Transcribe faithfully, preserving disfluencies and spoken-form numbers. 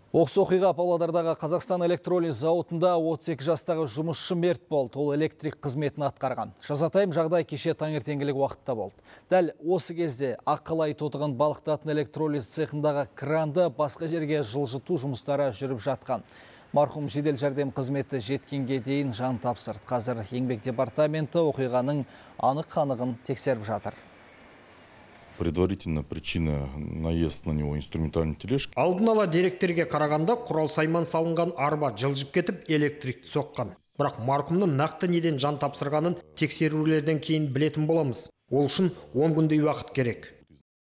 Оқыс оқиға Павлодардағы Қазақстан электролиз зауытында отыз екі жастағы жұмысшы мерт болды. Ол электрик қызметін атқарған. Жазатайым жағдай кеше таңертеңгілік уақытта болды. Дәл осы кезде аққалай тотығын балықтатын электролиз цехындағы кранды басқа жерге жылжыту жұмыстары жүріп жатқан. Марқұм жедел жәрдем қызметі жеткенге дейін жан тапсырды. Қазір еңбек департаменті оқиғаның анық-қанығын тексеріп жатыр. Предварительно причина наезд на него инструментальной тележки. Алдын ала деректерге қарағанда құрал сайман салынған арба жылжып кетіп электрикті соққан. Бірақ марқұмның нақты неден жан тапсырғанын тексерулерден кейін білетін боламыз. Ол үшін он күндей уақыт керек.